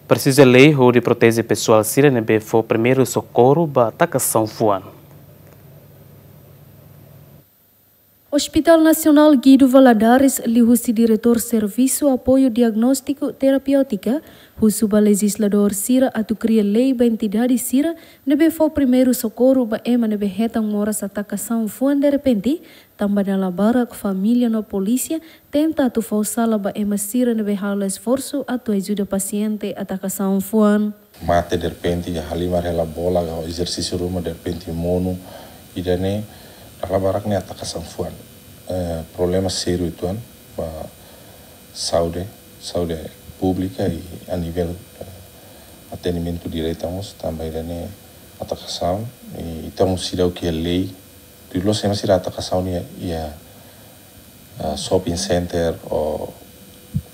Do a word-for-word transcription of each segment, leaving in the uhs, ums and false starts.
Presiza lei hodi proteje pesoál sira ne'ebé fó primeiru sokorru ba atakasaun fuan. Hospital Nasionál Guido Valadares liuhusi Diretór Servisu Apoiu Diagnóstiku Terapêutika husu ba lejizladór sira atu kria lei ba entidade sira ne'ebé fó primeiru sokorru ba ema ne'ebé hetan moras atakasaun fuan derrepente, tanba dala barak família no polísia tenta atu fó sala ba ema sira ne'ebé halo esforsu atu ajuda pasiente atakasaun fuan. Mate derrepente, halimar hela bola ka ezersísiu ruma derrepente monu, ida-ne'e dala barak ne'e atakasaun fuan. Eh, problema sériu uitoan ba saúde, saúde públika i a nivel, eh, atendimentu direta mós, tanba ida-ne'e atakasaun, i ita mós seidauk iha lei, tuir loos ema sira atakasaun iha, iha, ah, shopping center ou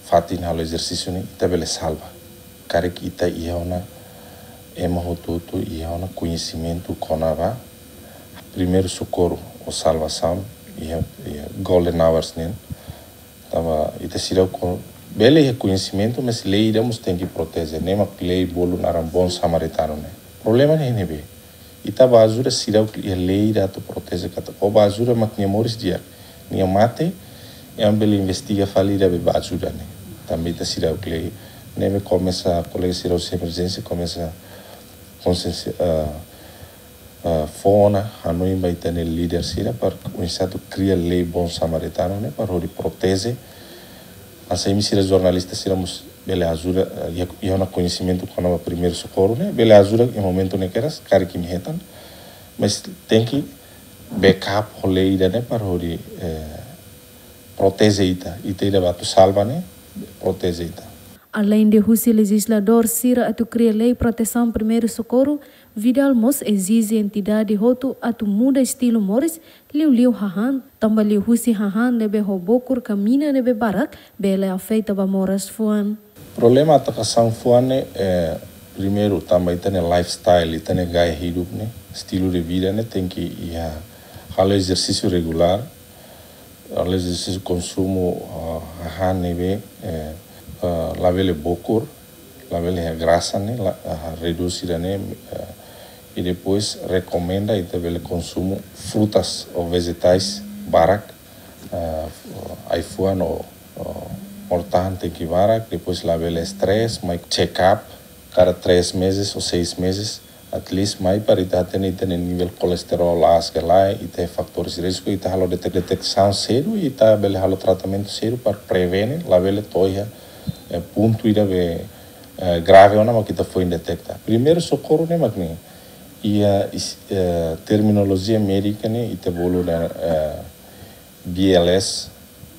fatin halo ezersísiu ne'e, ita bele salva. Karik ita iha ona, ema hotu-hotu iha ona koñesimentu kona-ba primeiru sokorru ou salvasaun iha, iha golden hours nian. Tanba ita seidauk kon-, bele iha koñesimentu, mas lei ida mós tenke proteje. Ne'e mak lei bolu naran bon samaritanu ne'e. Problema ne'e ne'ebé? Ita bá ajuda seidauk iha lei ida atu proteje katak ó bá ajuda mak nia moris di'ak. Nia mate, ema bele investiga fali ida be bá ajuda ne'e. Tanba ita seidauk lei. Ne'ebé komesa, kolega sira husi emerjénsia komesa konsiénsia, ah, ah, fó ona hanoin ba ita-nia líder sira para oinsá atu kria lei bon samaritanu ne'e para hodi proteje. Hanesan imi sira jornalista sira mós bele ajuda, eh, iha, iha ona koñesimentu kona-ba primeiru sokorru ne'e, bele ajuda iha momentu ne'e kedas, karik imi hetan. Mas tenke backup ho lei ida-ne'e para hodi, eh, proteje ita. Ita ida bá atu salva ne'e, proteje ita. Aleinde husi lejizladór sira atu kria lei protesaun primeiru sokorru, Vidal mós ezije entidade hotu atu muda estilu moris, liuliu hahán, tanba liuhusi hahán ne'ebé ho bokur ka mina ne'ebé barak, bele afeta ba moras fuan. Problema atakasaun fuan ne'e, eh, primeiru, tanba ita-nia lifestyle, ita-nia gaya hidup ne'e, estilu de vida ne'e, tenke iha halo ezersísiu regulár, halo ezersísiu, konsumu, ah, hahán ne'ebé, eh, ah, labele bokur, labele iha grasa ne'e, la, ah, redús ida-ne'e, eh, i depois rekomenda ita bele konsumu frutas ou vejetais barak, ah, ai-fuan ou, ou mota-han tenke barak, depois labele stress, mai check up kada três meses ou seis meses, at least mai para ita hatene ita-nia nivel kolesterol aas ka lae, ita iha fatores risku, ita halo detek-, deteksaun sedu, ita bele halo tratamentu sedu para prevene, labele to'o iha, eh, pontu ida be, eh, grave ona mak ita foin deteta. Primeiru sokorru ne'e mak ne'e, iha is-, eh, terminolojia médika ne'e, ita bolu ona, eh, B L S,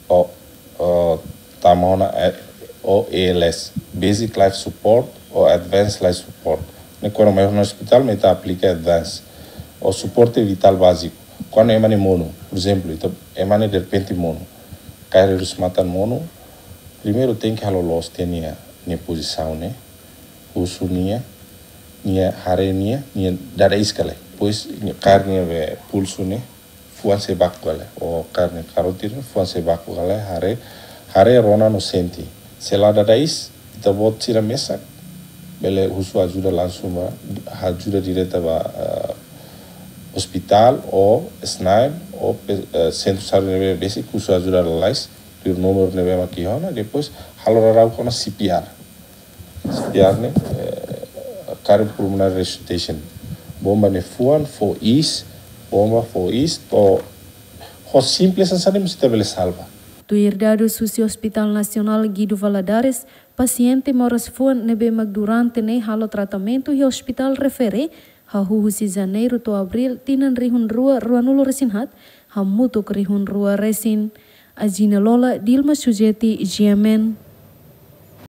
ou, ou tama ona, eh, ou A L S, Basic Life Support ou Advanced Life Support. Ne'e kuandu mai ona ospitál, mai ita aplika advance. Ou suporte vitál báziku. Kuandu ema ne'e monu, por ezemplu, ita, ema ne'e derrepente monu. Kaer redús matan monu, primeiru tenke halo loos tiha nia, nia pozisaun ne'e, husu nia, nia haree nia, nia dada iis ka lae. Depois, nia kaer nia be pulsu ne'e, fuan sei baku ka lae, ou kaer nia karótida, fuan sei baku ka lae, haree, haree, rona no sente. Se la dada iis, ita-boot sira mesak bele husu ajuda langsung ba, ajuda direta ba, eh, ospitál ou SNAEM ou pe-, eh, sentru saúde ne'ebé besik husu ajuda lalais, tuir númeru ne'ebé mak iha ona, depois halo rarau kona C P R. C P R ne'e, eh, cardiopulmonary resuscitation. Bomba nia fuan fó iis, bomba fó iis, to'o ho simples hanesan ne'e mós ita bele salva. Tuir dadus husi Hospital Nasionál Guido Valadares, pasiente moras fuan ne'ebé mak durante ne'e halo tratamentu iha ospitál refere, hahú husi Janeiru to'o Abríl tinan rihun rua ruanulu-resin-haat, hamutuk rihun rua resin. Ajina Lola, Dilma Sujeti, G M N.